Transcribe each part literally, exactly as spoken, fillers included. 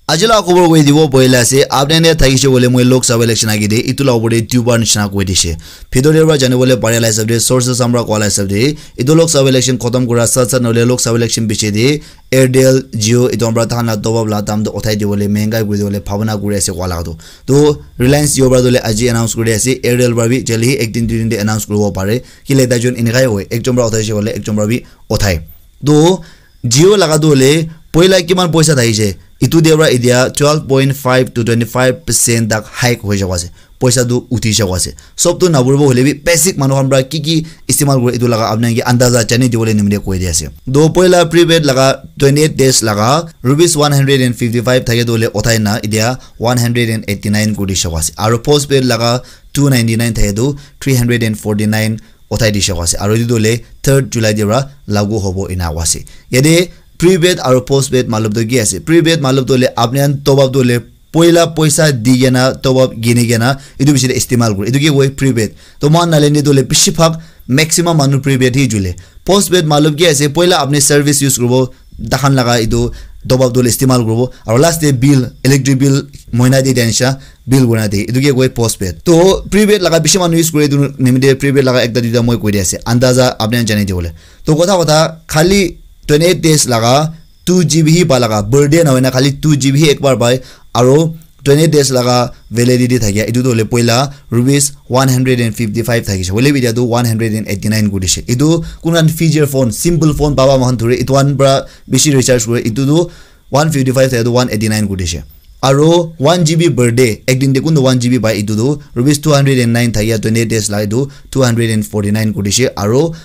Aji la khobor koi dibo boile ase, apni ne thakishe bole moi Lok Sabha election agi de, itu la opor de dubar nishina koi dishe. Bhitor de pra jani bole pare la hisab de, sources amra koa la hisab de, itu Lok Sabha election khotom kura sat sat nole Lok Sabha election piche de, Airtel, Jio, itu amra tahan la top up la dam to uthai di bole, mehengai kuri di bole, bhabana kuri ase koa la to. To Reliance Jio pra to le aji announce kuri ase, Airtel pra bi jaldi hi ek din dui din de announce kuribo pare. Kile tai jun enekai hoi, ekjon pra uthaishe bole, ekjon pra bi uthai. To Jio laga tu hoile poila kiman poisa thakishe, itu de pra itia twelve point five to twenty five percent tak hike hoi jabo ase, poisa tu uthi jabo ase. Sob tu naburibo hoile bi basic manu khan pra ki ki istemal kore itu laga apni ke andaza jani dibole nimite koi di ase. To poila prepaid laga twenty eight days laga rupees one hundred and fifty five thake tu hoile uthai na itia one hundred and eighty nine kuri jabo ase, aro postpaid laga two ninety nine thake tu three hundred and forty nine uthai di shaka ase, aro etu tu hoile third July de pra lagu hobo ena koa ase. Yate prepaid aro postpaid matlab tu ki ase? Prepaid matlab tu hoile apni khan top up tu hoile poila poisa di kena top up kini kena etu bishi de istemal kore, etu ke koi prepaid. To moikhan Nagaland de tu hoile bishi bhag maximum manu prepaid hi jule. Postpaid matlab ki ase? Poila apni service use kuribo, tahan laga etu top up tu hoile istemal kuribo, aro last de bill, electric bill, moina de dia nisha bill kurina de, etu ke koi postpaid. To prepaid laga bishi manu use kore, etu nimite prepaid laga ekta duita moi koi di ase, andaza apni khan jani dibole. To kotha kotha khali twenty eight days laga two G B hi pa laga, birthday na hoina khali two G B hi ekbar pai, aro twenty eight days laga validity thakia, etu tu hoile poila rupees one hundred and fifty five thakishe, hoile bi etia tu one hundred and eighty nine kuri dishe. Etu kun khan feature phone, simple phone papa moikhan thuri, etu khan pra bishi recharge kure, etu tu one fifty five thake tu one eighty nine kuri dishe. Aro one G B birthday, ek din de kun tu one G B pai, etu tu rupees two hundred and nine thakia twenty eight days la etu two hundred and forty nine kuri dishe. Aro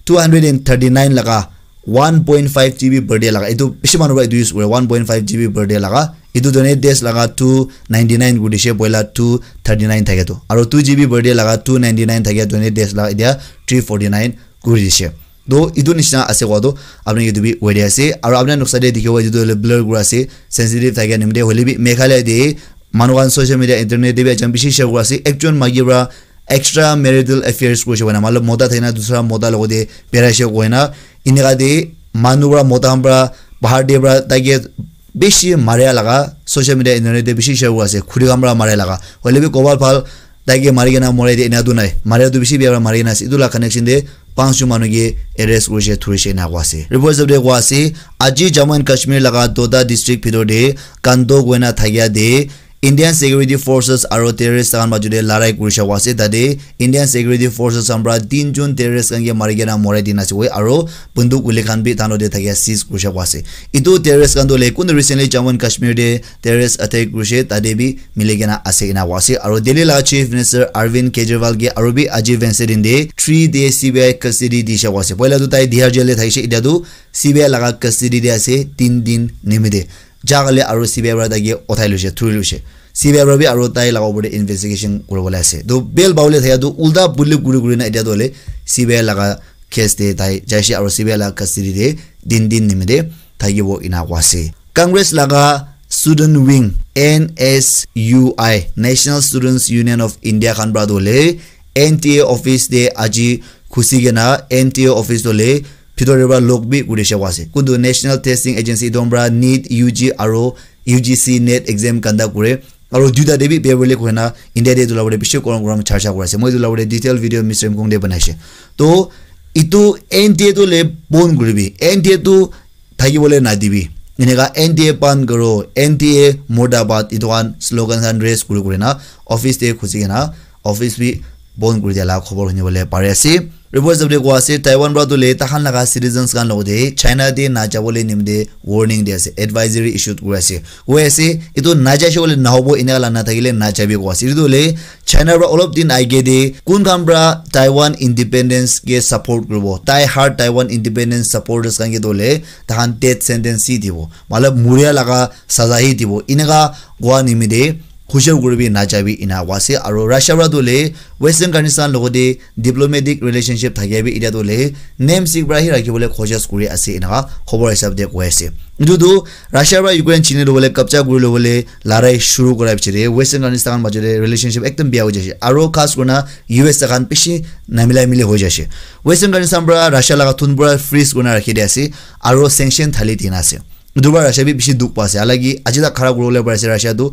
two hundred and thirty nine laga one point five G B birthday laga, etu bishi manu pra etu use kore, one point five G B birthday laga, etu twenty eight days laga two ninety nine kuri dishe, poila two thirty nine thake tu. Aro two G B birthday laga two ninety nine thakia twenty eight days laga etia three forty nine kuri dishe. To etu nishina ase koa to apni etu bi koi di ase. Aro apni noksa de dikhibo etu tu hoile blur kura ase, sensitive thakia nimite, hoile bi Meghalaya de manu khan social media, internet de bi ajam bishi share kura ase. Ekjon maiki pra extra marital affairs kurishe koina, matlab mota thakina dusra mota logote beraishe koina, enika de manu pra mota khan pra bahar de pra taike bishi maria laga social media, internet de bishi share kura ase, khuri khan pra maria laga. Hoile bi kobal bhal taike mari kena morai de ena tu nai, maria tu bishi bia pra mari kena ase. Etu la connection de panch jon manu ke arrest kurishe, thurishe ena koa ase. Report hisab de koa ase, aji Jammu and Kashmir laga Doda district bhitor de Kando koina thakia de Indian Security Forces aro terrorist khan majot de larai kurishe koa ase. Tate Indian Security Forces khan pra tin jon terrorist khan ke mari kena morai dina ase koi, aro bunduk guli khan bi tano de thakia seize kurishe koa ase. Etu terrorist khan tu hoile kun recently Jammu and Kashmir de terrorist attack kurishe, tate bi mili kena ase ena koa ase. Aro Delhi laga Chief Minister Arvind Kejriwal ke aro bi aji Wednesday din de three day C B I custody dishe koa ase. Poila tu tai Tihar jail de thakishe, etia tu C B I laga custody de ase tin din nimite. Jagale aro C B I pra taike uthai loishe, thuri loishe. C B I pra bi aro tai laga opor de investigation kuribole ase. To bail pabole thaka tu ulta puli kuri kuri na etia tu hoile C B I laga case de tai jaishe aro C B I laga custody de tin din nimite thakibo ena koa ase. Congress laga student wing, N S U I, National Students Union of India khan pra tu hoile N T A office de aji khusi kena N T A office tu hoile bhitor de pra lock bi kurishe koa ase. Kuntu National Testing Agency etu khan pra NEET U G aro U G C NET exam conduct kure. Aro duita de bi paper leak hoina India de etu la opor de bishi korom korom charcha kuri ase. Moi etu la opor de detail video Mister Mkong de banaishe. To etu N T A tu hoile bon kuribi. N T A tu thakibole nadibi. Eneka N T A ban karo, N T A murdabad, etu khan slogan khan raise kuri kuri na office de khusi kena office bi bon kuri dia la khobor huni bole pari ase. Report hisab de koa ase, Taiwan pra tu hoile tahan laga citizens khan logote China de najabole nimite warning di ase, advisory issued kuri ase. Koi ase, etu najaishe koile nahobo, eneka la nathakile najabi koa ase. Etu tu hoile China pra olop din aage de kun khan pra Taiwan independence ke support kuribo, die hard Taiwan independence supporters khan ke tu hoile tahan death sentence hi dibo, matlab muria laga saza hi dibo, eneka koa nimite hushar kuribi, najabi ena koa ase. Aro Russia pra tu hoile Western countries khan logote diplomatic relationship thakia bi etia tu hoile name sik pra hi rakhibole khojaj kuri ase, eneka khobor hisab de koi ase. Etu tu Russia pra Ukraine chini lobole, kabja kuri lobole larai shuru kura piche de Western countries khan majot de relationship ekdum bia hoi jaise. Aro khas kurina U S khan bishi namila mili hoi jaise. Western countries khan pra Russia laga thun pura freeze kurina rakhi di ase aro sanction thali dina ase. Etu para Russia bi bishi dukh pa ase. Halaki aji tak khara kuribole pari ase Russia tu,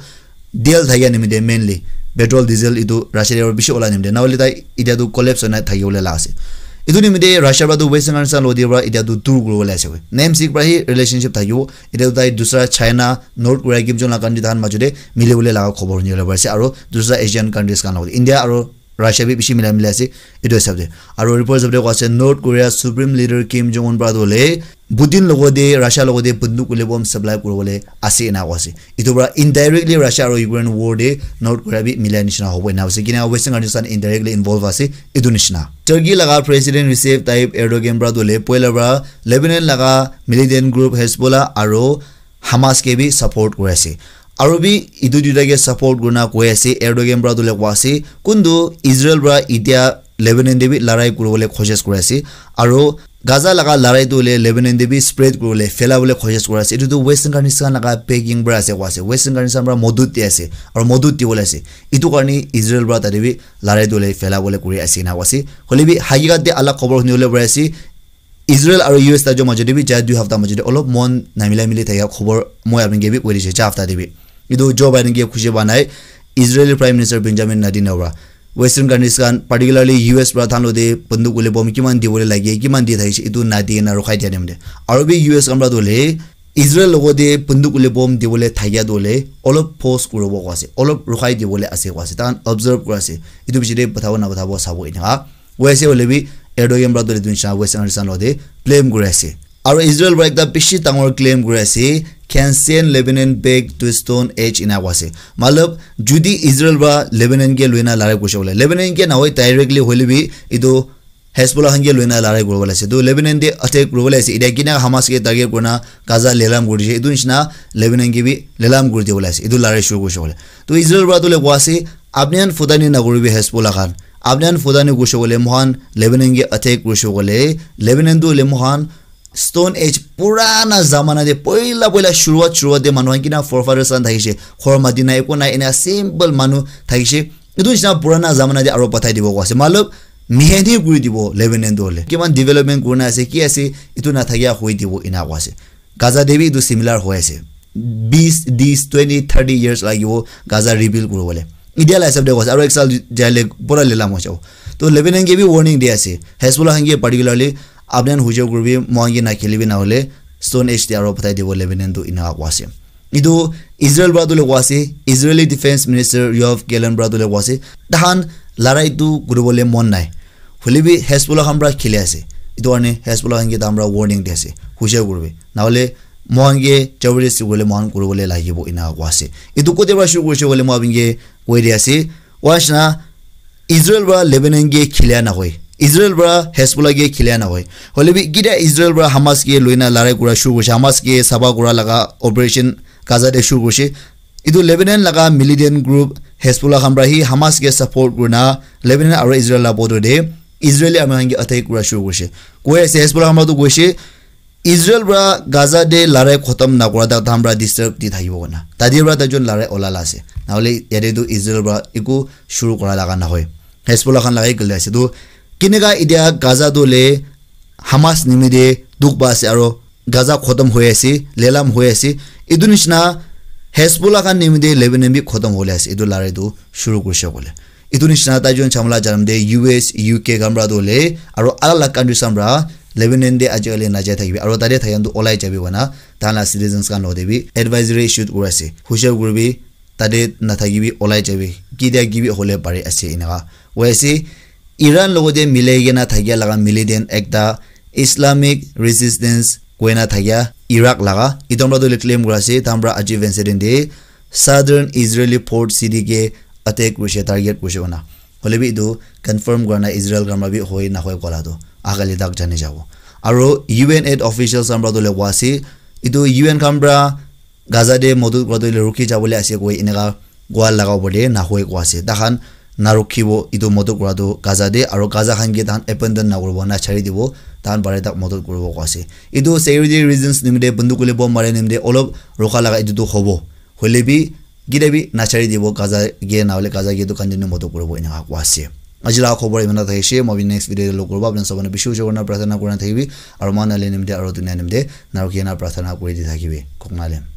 diesel thakia nimite mainly, petrol, diesel etu Russia te bishi ola nimite. Nahole tai etia tu collapse hoina thakibole la ase. Etu nimite Russia para tu Western countries khan lodi para etia tu dur kuribole ase koi. Name sik para hi relationship thakibo. Etia tu tai dusra China, North Korea, Kim Jong la country tahan majo te milibole laga khobor hunibole pari ase. Aro dusra Asian countries khan lodi, India aro Russia bi bishi mila mila ase etu hisab te. Aro report hisab te koa ase North Korea Supreme Leader Kim Jong Un para tu hoile Putin logo te, Russia logo te bunduk kule bomb supply kuribole ase ena koa ase. Etu para indirectly Russia aro Ukraine war te North Korea bi mila nishina hobo ena ase. Kina Western countries khan indirectly involve ase etu nishina. Turkey laga President Recep Tayyip Erdogan para tu hoile poila para Lebanon laga militant group Hezbollah aro Hamas ke bi support kuri ase. Aro bi etu duita ke support kurina koi ase, Erdogan para tu hoile koa ase, kuntu Israel para etia Lebanon te bi larai kuribole koshish kuri ase. Aro Gaza laga larai tu hoile Lebanon te bi spread kuribole, phelabole koshish kuri ase. Etu tu Western countries khan laga backing para ase koa ase. Western countries khan para modut di ase. Aro modut dibole ase. Etu karne Israel para tate bi larai tu hoile phelabole kuri ase ena koa ase. Hoile bi hakikat te alak khobor hunibole pari ase. Israel aro U S ta jo majo te bi ja dui hafta majo te olop mon namila mili thaka khobor moi apni ke bi koi dise ja hafta te bi. Etu Joe Biden ke khushi ba nai. Israeli Prime Minister Benjamin Netanyahu para Western countries khan, particularly U S para than lo te bunduk kule bomb kiman dibole lage, kiman di thakise, etu nadi na rukhai dia nimite. Aro bi U S khan para tu hoile Israel logo te bunduk kule bomb dibole thakia tu hoile olop pause kuribo koa ase, olop rukhai dibole ase koa ase, tahan observe kuri ase. Etu piche te pathabo na pathabo sabo eneka. Koi ase hoile bi Erdogan para tu hoile etu nisina Western countries khan lo te blame kuri ase. Aro Israel para ekta bishi dangor claim kuri ase, "Can send Lebanon back to Stone Age," ena koa ase. Matlab, judi Israel para Lebanon ke loina larai kurise hoile, Lebanon ke nahoi directly hoile bi etu Hezbollah khan ke loina larai kuribole ase. Tu Lebanon te attack kuribole ase. Etia kina Hamas ke target kurina Gaza lelam kuri dise. Etu nisina Lebanon ke bi lelam kuri dibole ase. Etu larai shuru kurise hoile. Tu Israel para tu hoile koa ase, "Apni khan futani na kuribi Hezbollah khan. Apni khan futani kurise hoile moikhan Lebanon ke attack kurise hoile, Lebanon tu hoile moikhan Stone Age purana zamana te poila poila shuruat shuruat te manu khan kina forefathers khan thakise. Khor mati nai, eko nai, ena simple manu thakise. Etu nisina purana zamana te aro pathai dibo koa ase." Matlab, miheni kuri dibo Lebanon tu hoile. Kiman development kurina ase, ki ase, etu na thakia hoi dibo ena koa ase. Gaza te bi etu similar hoi ase. Bis, dis, twenty, thirty years lagibo Gaza rebuild kuribole. Etia la hisab te koa ase, aro ek saal jaile pura lelam hoi jabo. To Lebanon ke bi warning di ase. Hezbollah khan ke particularly, "Apni khan hujai kuribi, moikhan ke nakhelibi, nahole Stone Age te aro pathai dibo Lebanon," tu eneka koa ase. Etu Israel para tu hoile koa ase, Israeli Defense Minister Yoav Gallant para tu hoile koa ase, "Tahan larai tu kuribole mon nai. Hoile bi Hezbollah khan para kheli ase. Etu karne Hezbollah khan ke tahan para warning di ase. Hujai kuribi. Nahole moikhan ke jabardasti kuribole moikhan kuribole lagibo," eneka koa ase. Etu kote para shuru kurise koile moi apni ke koi di ase. Koa nisina Israel para Lebanon ke khilia nahoi. Israel para Hezbollah ke khilia nahoi. Hoile bi kida Israel para Hamas ke loina larai kura shuru kurise, Hamas ke sapha kura laga operation Gaza te shuru kurise. Etu Lebanon laga militant group Hezbollah khan para hi Hamas ke support kurina Lebanon aro Israel la border te Israeli army khan ke attack kura shuru kurise. Koi ase Hezbollah khan para tu koise, Israel para Gaza te larai khotom nakura tak tahan para disturb di thakibo koina. Tate para taijon larai ola la ase. Nahole yate tu Israel para eku shuru kura laga nahoi. Hezbollah khan lagai gule ase. Tu kineka etia Gaza tu le Hamas nimite dukh pa ase aro Gaza khotom hoi ase, lelam hoi ase. Etu nisina Hezbollah khan nimite Lebanon bi khotom hole ase. Etu larai tu shuru kurise koile. Etu nisina taijon chamala janam te U S, U K khan para tu hoile, aro alag alag countries khan para Lebanon te ajikali najai thakibi. Aro tate thakikhan tu olai jabi koina, tahan la citizens khan logote bi advisory issued kuri ase. Hushar kuribi, tate nathakibi, olai jabi. Kitia kibi hole pari ase eneka. Koi ase, Iran logote milai kena thakia laga militant ekta Islamic Resistance koina thakia Iraq laga. Etu para tu hoile claim kuri ase, tahan para aji Wednesday din te Southern Israeli port city ke attack kurise, target kurise koina. Hoile bi etu confirm kura nai Israel khan para bi hoi nahoi kola tu agali tak jani jabo. Aro U N aid officials khan para tu hoile koi ase, etu U N khan para Gaza te modot kura tu hoile rukhi jabole ase koi eneka koa laga opor te nahoi koi ase. Tahan narukhibo etu modot kura tu Gaza te, aro Gaza khan ke tahan abandon nakuribo, nachari dibo, tahan pare tak modot kuribo koi ase. Etu security reasons nimite bunduk kule bomb mare nimite olop rukha laga etu tu hobo. Hoile bi, kitia bi nachari dibo Gaza ke, nahole Gaza ke tu continue modot kuribo eneka koi ase. Aji laga khobor imana thakishe, moi next video te log koribo, apni sabone bishi bishi korina prarthana korina thakibi, aru moi nale nimite aru dunia nimite narukina prarthana kori di thakibi. Koknalem.